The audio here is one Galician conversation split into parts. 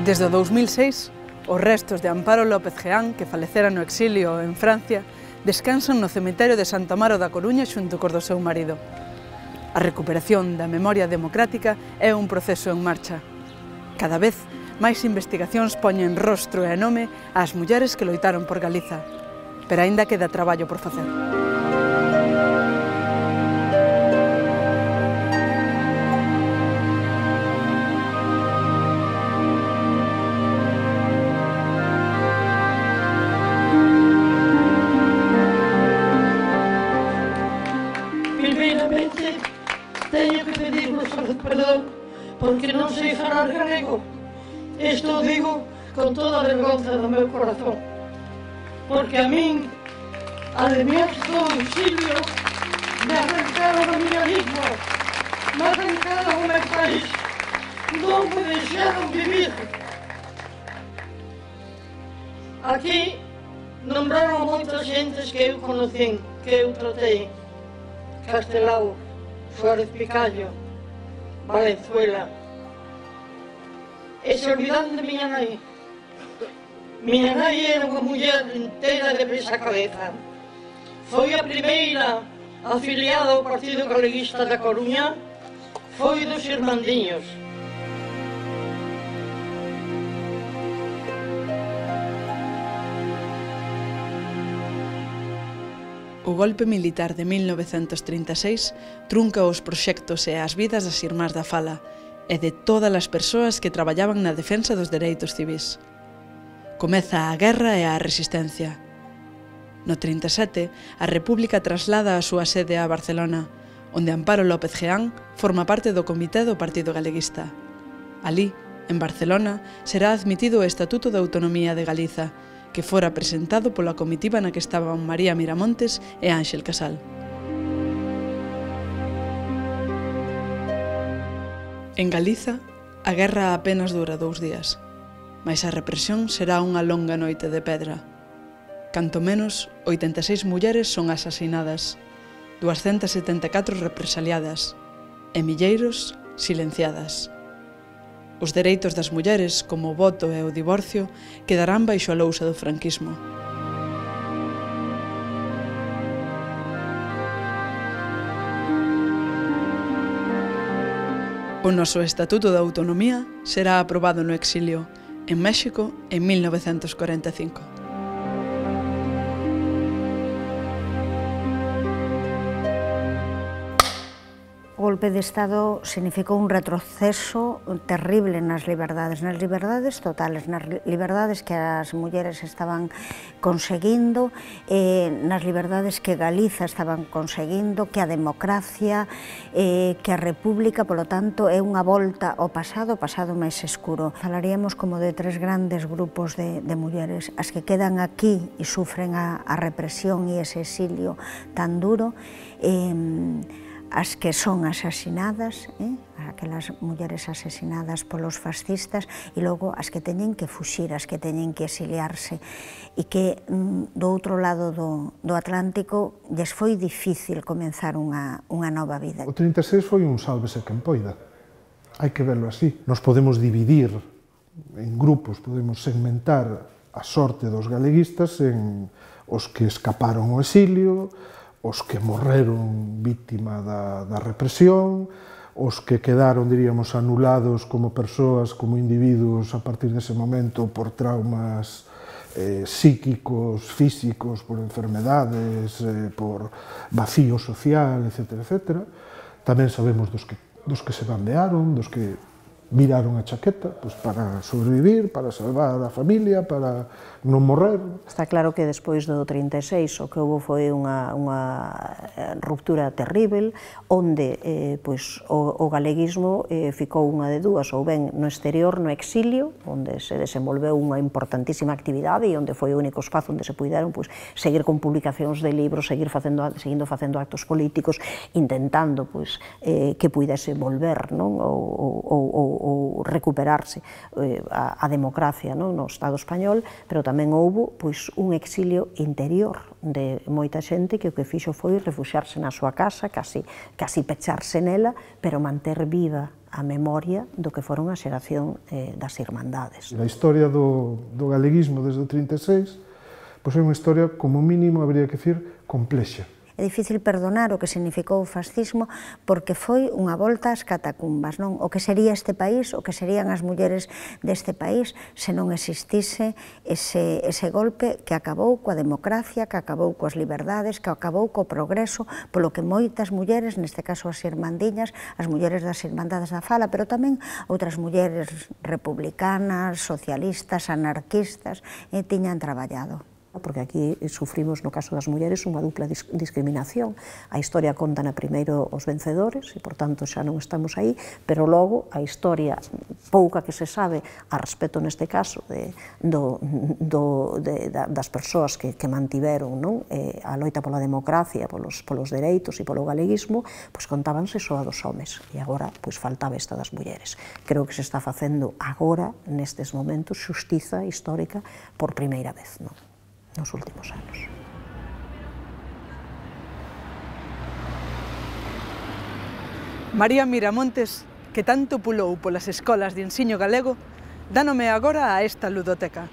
Desde o 2006, os restos de Amparo López Geán, que falecera no exilio en Francia, descansan no cemiterio de Santo Amaro da Coruña xunto cos do seu marido. A recuperación da memoria democrática é un proceso en marcha. Cada vez, máis investigacións poñen rostro e nome ás mulleres que loitaron por Galiza, pero aínda queda traballo por facer. Primeiramente, teño que pedirvos perdón porque non sei falar galego. Isto digo con toda a vergonza do meu corazón, porque a min, ademais do exilio, me arrancaron a miña lingua, me arrancaron o meu país, non me deixaron vivir. Aquí nombraron moitas xentes que eu conocín, que eu tratei. Castelao, Suárez Picallo, Valenzuela. E se olvidan de miña nai. Miña nai era unha muller inteira de pés a cabeza. Foi a primeira afiliada ao Partido Galeguista da Coruña, foi dos Irmandiños. O golpe militar de 1936 trunca os proxectos e as vidas das Irmás da Fala e de todas as persoas que traballaban na defensa dos dereitos civís. Comeza a guerra e a resistencia. No 37, a República traslada a súa sede a Barcelona, onde Amparo López Geán forma parte do comité do Partido Galeguista. Alí, en Barcelona, será admitido o Estatuto de Autonomía de Galiza, que fora presentado pola comitiva na que estaban María Miramontes e Ánxel Casal. En Galiza, a guerra apenas dura 2 días, mais a represión será unha longa noite de pedra. Canto menos, 86 mulleres son asasinadas, 274 represaliadas e milleiros silenciadas. Os dereitos das mulleres, como o voto e o divorcio, quedarán baixo a lousa do franquismo. O noso Estatuto de Autonomía será aprobado no exilio, en México, en 1945. O golpe de Estado significou un retroceso terrible nas liberdades totales, nas liberdades que as mulleres estaban conseguindo, nas liberdades que Galiza estaban conseguindo, que a democracia, que a república, polo tanto, é unha volta ao pasado máis escuro. Falaríamos como de 3 grandes grupos de mulleres, as que quedan aquí e sufren a represión e ese exilio tan duro, as que son asasinadas, aquelas mulleres asasinadas polos fascistas, e logo as que teñen que fuxir, as que teñen que exiliarse, e que do outro lado do Atlántico lles foi difícil comenzar unha nova vida. O 36 foi un sálvese quen poida, hai que verlo así. Nos podemos dividir en grupos, podemos segmentar a sorte dos galeguistas en os que escaparon ao exilio, os que morreron víctima da represión, os que quedaron, diríamos, anulados como persoas, como individuos a partir dese momento por traumas psíquicos, físicos, por enfermedades, por vacío social, etc. Tamén sabemos dos que se bandearon, dos que viraron a chaqueta para sobrevivir, para salvar a familia, para non morrer. Está claro que despois do 36 o que houve foi unha ruptura terrible, onde o galeguismo ficou unha de dúas, ou ben no exterior, no exilio, onde se desenvolveu unha importantísima actividade e onde foi o único espazo onde se puideron seguir con publicacións de libros, seguindo facendo actos políticos, intentando que puidese volver o ou recuperarse a democracia no Estado español, pero tamén houbo un exilio interior de moita xente que o que fixo foi refuxiarse na súa casa, casi pecharse nela, pero manter viva a memoria do que foron a xeración das Irmandades. A historia do galeguismo desde o 36 é unha historia, como mínimo, habría que dicir, complexa. É difícil perdonar o que significou o fascismo porque foi unha volta ás catacumbas, non? O que sería este país, o que serían as mulleres deste país se non existise ese golpe que acabou coa democracia, que acabou coas liberdades, que acabou co progreso, polo que moitas mulleres, neste caso as irmandiñas, as mulleres das Irmandades da Fala, pero tamén outras mulleres republicanas, socialistas, anarquistas, tiñan traballado. Porque aquí sufrimos, no caso das mulleres, unha dupla discriminación. A historia contan primeiro os vencedores, e, por tanto, xa non estamos aí, pero logo a historia pouca que se sabe a respecto, neste caso, das persoas que mantiveron a loita pola democracia, polos dereitos e polo galeguismo, contábanse só a dos homes, e agora faltaba esta das mulleres. Creo que se está facendo agora, nestes momentos, xustiza histórica por primeira vez, nos últimos anos. María Miramontes, que tanto pulou polas escolas de ensino galego, dá nome agora a esta ludoteca.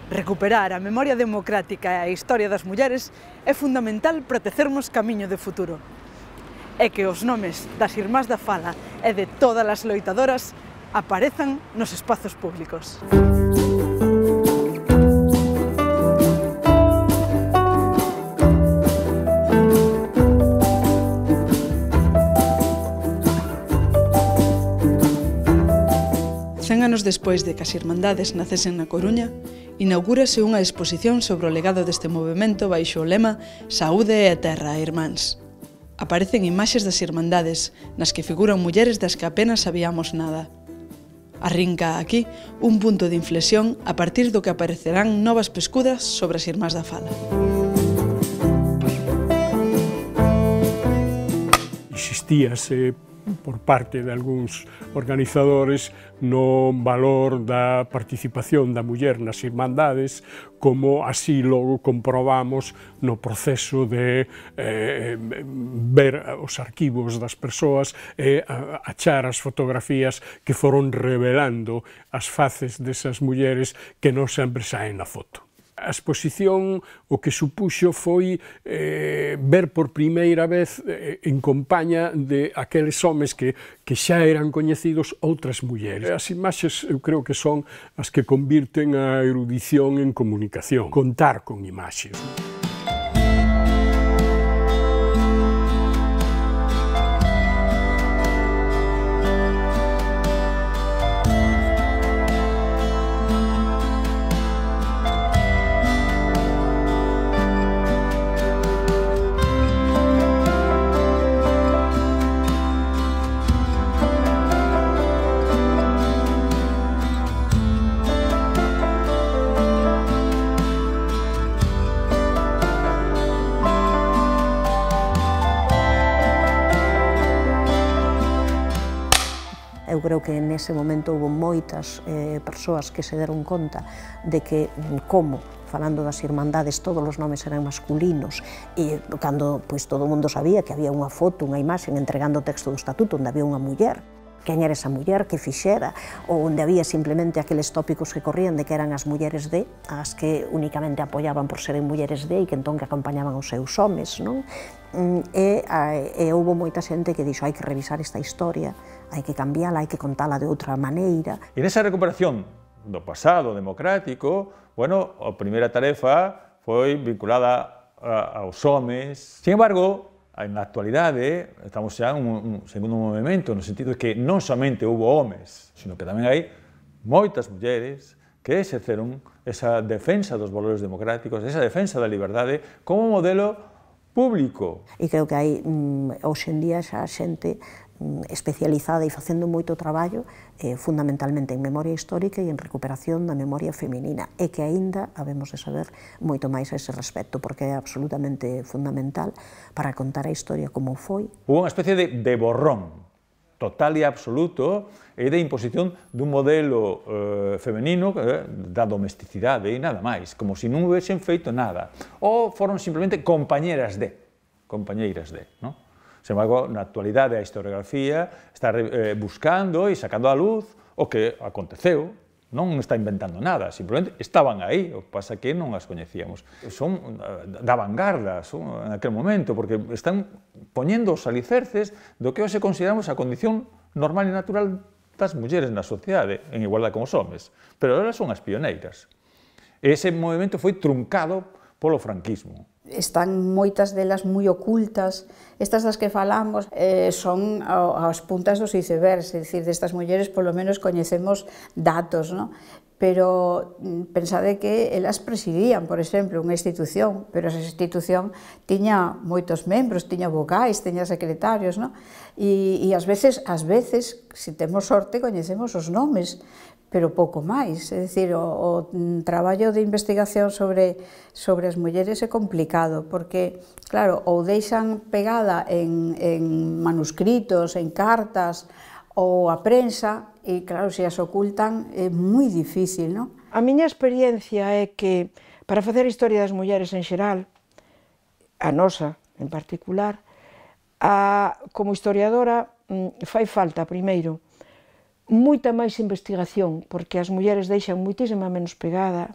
Recuperar a memoria democrática e a historia das mulleres é fundamental protecermos camiño de futuro. E que os nomes das Irmás da Fala e de todas as loitadoras aparezan nos espazos públicos. Anos despois de que as Irmandades nacesen na Coruña, inaugúrase unha exposición sobre o legado deste movemento baixo o lema Saúde e Terra, Irmáns. Aparecen imaxes das Irmandades, nas que figuran mulleres das que apenas sabíamos nada. Arrinca aquí un punto de inflexión a partir do que aparecerán novas pescudas sobre as Irmás da Fala. Insistíase por parte de algúns organizadores no valor da participación da muller nas Irmandades, como así logo comprobamos no proceso de ver os arquivos das persoas e achar as fotografías que foron revelando as faces desas mulleres que non sempre saen na foto. A exposición o que supuxo foi ver por primeira vez en compaña de aqueles homes que xa eran coñecidos outras mulleres. As imaxes eu creo que son as que convirten a erudición en comunicación, contar con imaxes. Eu creo que nese momento houve moitas persoas que se deron conta de que como, falando das Irmandades, todos os nomes eran masculinos e cando todo o mundo sabía que había unha foto, unha imaxe entregando o texto do estatuto onde había unha muller, quen era esa muller, que fixera, ou onde había simplemente aqueles tópicos que corrían de que eran as mulleres de, as que únicamente apoiaban por seren mulleres de e que entón que acompañaban os seus homes, non? E houve moita xente que dixo hai que revisar esta historia, hai que cambiala, hai que contala de outra maneira. E nesa recuperación do pasado democrático, bueno, a primeira tarefa foi vinculada aos homes. Sin embargo, na actualidade, estamos xa en un segundo movimento, no sentido de que non somente houve homes, sino que tamén hai moitas mulleres que exerceron esa defensa dos valores democráticos, esa defensa da liberdade como modelo público. E creo que hai, hoxe en día, xa xente especializada e facendo moito traballo, fundamentalmente en memoria histórica e en recuperación da memoria feminina, e que aínda habemos de saber moito máis a ese respecto, porque é absolutamente fundamental para contar a historia como foi. Hubo unha especie de borrón total e absoluto e de imposición dun modelo femenino da domesticidade e nada máis, como se non houvesen feito nada, ou foron simplemente compañeras de, non? Sen embargo, na actualidade a historiografía está buscando e sacando á luz o que aconteceu, non está inventando nada, simplemente estaban aí, o que pasa que non as coñecíamos. Son da vanguarda en aquel momento, porque están poñendo os alicerces do que hoxe consideramos a condición normal e natural das mulleres na sociedade, en igualdade con os homes, pero elas son as pioneiras. Ese movimento foi truncado polo franquismo. Están moitas delas moi ocultas. Estas das que falamos son as puntas dos icebergs, é dicir, destas mulleres polo menos coñecemos datos, non? Pero pensade que elas presidían, por exemplo, unha institución, pero esa institución tiña moitos membros, tiña vocais, tiña secretarios, non? E ás veces, se temos sorte, coñecemos os nomes, pero pouco máis. É dicir, o traballo de investigación sobre as mulleres é complicado, porque, claro, ou deixan pegada en manuscritos, en cartas, ou a prensa, e, claro, se as ocultan é moi difícil, non? A miña experiencia é que, para facer a historia das mulleres en xeral, a nosa en particular, como historiadora, fai falta, primeiro, moita máis investigación, porque as mulleres deixan moitísima menos pegada,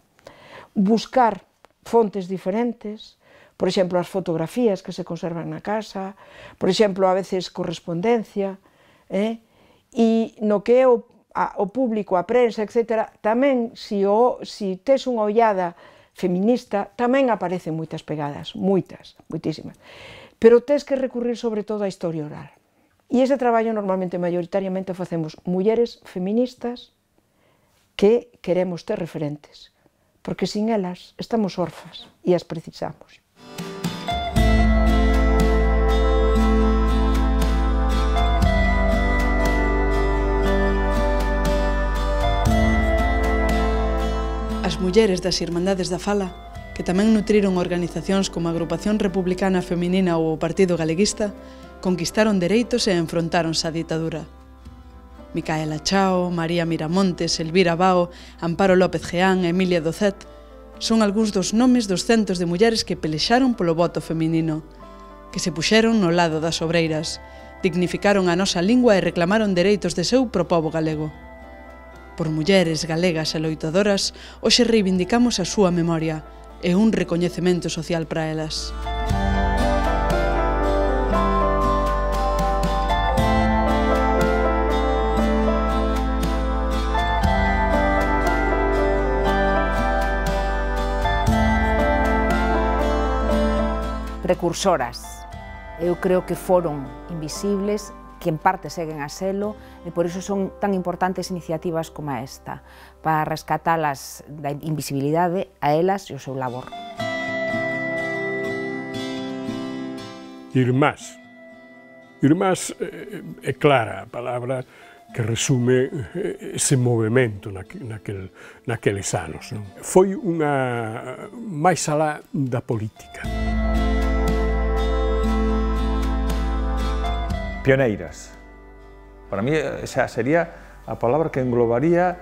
buscar fontes diferentes, por exemplo, as fotografías que se conservan na casa, por exemplo, a veces correspondencia, e no que é o público, a prensa, etc., tamén, se tes unha ollada feminista, tamén aparecen moitas pegadas, moitísimas, pero tes que recurrir sobre todo á historia oral. E ese traballo normalmente, maioritariamente, facemos mulleres feministas que queremos ter referentes, porque sin elas estamos órfas e as precisamos. As mulleres das Irmandades da Fala, que tamén nutriron organizacións como a Agrupación Republicana Feminina ou o Partido Galeguista, conquistaron dereitos e enfrontáronse á ditadura. Micaela Chao, María Miramontes, Elvira Bao, Amparo López Geán e Emilia Docet son algúns dos nomes dos centos de mulleres que pelexaron polo voto feminino, que se puxeron no lado das obreiras, dignificaron a nosa lingua e reclamaron dereitos de seu pro pobo galego. Por mulleres galegas e loitadoras, hoxe reivindicamos a súa memoria e un recoñecemento social para elas. Precursoras. Eu creo que foron invisibles, que en parte seguen a selo, e por iso son tan importantes iniciativas como esta, para rescatalas da invisibilidade a elas e o seu labor. Irmás. Irmás é clara a palabra que resume ese movimento naqueles anos. Foi unha máis alá da política. Pioneiras. Para mí esa sería a palabra que englobaría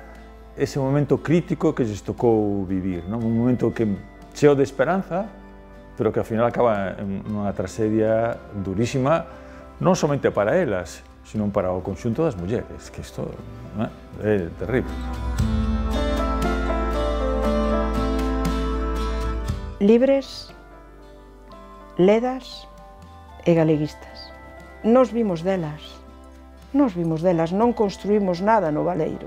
ese momento crítico que lles tocou vivir, non? Un momento que cheo de esperanza, pero que ao final acaba en unha tragedia durísima, non somente para elas, sino para o conxunto das mulleres, que isto é terrible. Libres, ledas e galeguistas. Nos vimos delas, non construímos nada no Baleiro.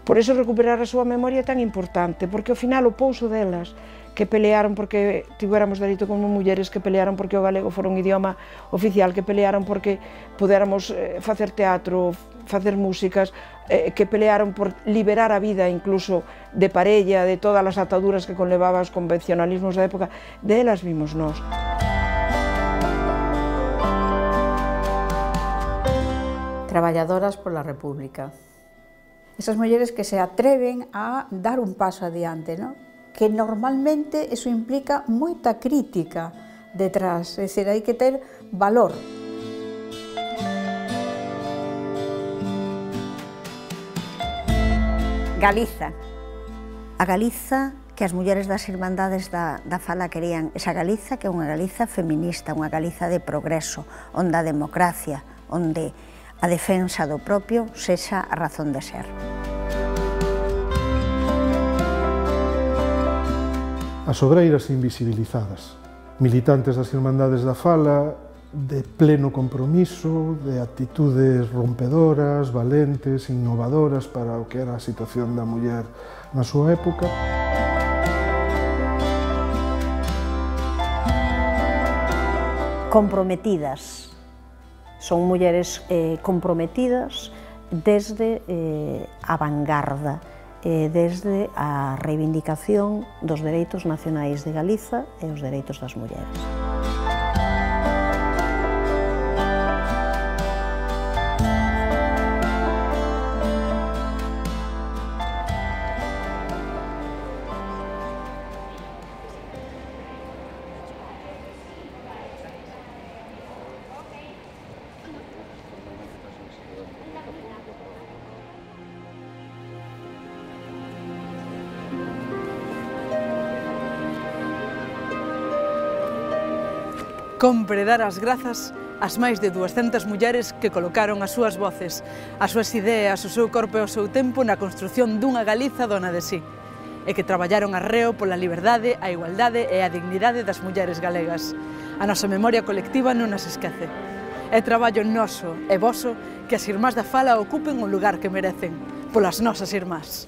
Por iso recuperar a súa memoria é tan importante, porque ao final o pouso delas, que pelearon porque tivéramos dereito como mulleres, que pelearon porque o galego fora un idioma oficial, que pelearon porque podéramos facer teatro, facer músicas, que pelearon por liberar a vida incluso de parella, de todas as ataduras que conlevaba os convencionalismos da época, delas vimos nós. Traballadoras pola República. Esas mulleres que se atreven a dar un paso adiante, ¿no? Que normalmente eso implica moita crítica detrás, é dicir, hai que ter valor. Galiza. A Galiza que as mulleres das Irmandades da Fala querían, esa Galiza que é unha Galiza feminista, unha Galiza de progreso, onde a democracia, onde a defensa do propio sexa a razón de ser. As obreiras invisibilizadas, militantes das Irmandades da Fala, de pleno compromiso, de actitudes rompedoras, valentes, innovadoras para o que era a situación da muller na súa época. Comprometidas. Son mulleres comprometidas desde a vanguarda, desde a reivindicación dos dereitos nacionais de Galiza e os dereitos das mulleres. Compre dar as grazas ás máis de 200 mulleres que colocaron as súas voces, as súas ideas, o seu corpo e o seu tempo na construción dunha Galiza dona de sí, e que traballaron arreo pola liberdade, a igualdade e a dignidade das mulleres galegas. A nosa memoria colectiva non nas esquece. É traballo noso e voso que as irmás da Fala ocupen o lugar que merecen, polas nosas irmás.